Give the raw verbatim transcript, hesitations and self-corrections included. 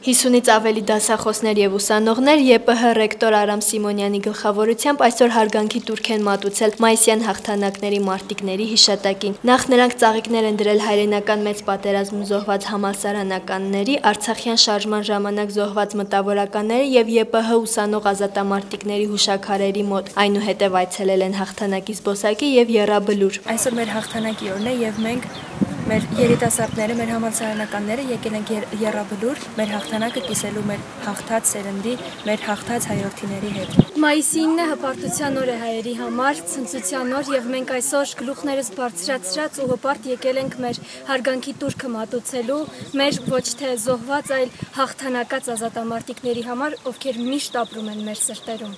հիսունից ավելի դասախոսներ և ուսանողներ ԵՊՀ ռեկտոր Արամ Սիմոնյանի գլխավորությամբ այսօր հարգանքի տուրք են մատուցել մայիսյան հաղթանակների մարտիկների հիշատակին։ Նախ նրանք ծաղիկներ են դրել հայրենական մեծ պատերազմում զոհված համալսարանականների, Արցախյան շարժման ժամանակ զոհված մտավորականների և ԵՊՀ ուսանող ազատամարտիկների հուշաքարերի մոտ, այնուհետև այցելել են հաղթանակի զբոսայգի և եռաբլուր։ Այսօր մեր հաղթանակի օրն է և մենք մեր երիտասարդները, մեր համալսարանականները եկել ենք եռաբլուր մեր հաղթանակը կիսելու մեր հաղթած սերնդի, մեր հաղթած հայրենիների հետ։ Մայիսի ինը հպարտության օր է հայերի համար, ցնծության օր, եւ մենք այսօր գլուխներս բարձրացրած ու հպարտ եկել ենք մեր հարգանքի տուրքը մատուցելու, մեր ոչ թե զոհված, այլ հաղթանակած ազատամարտիկների համար, ովքեր միշտ ապրում են մեր սրտերում։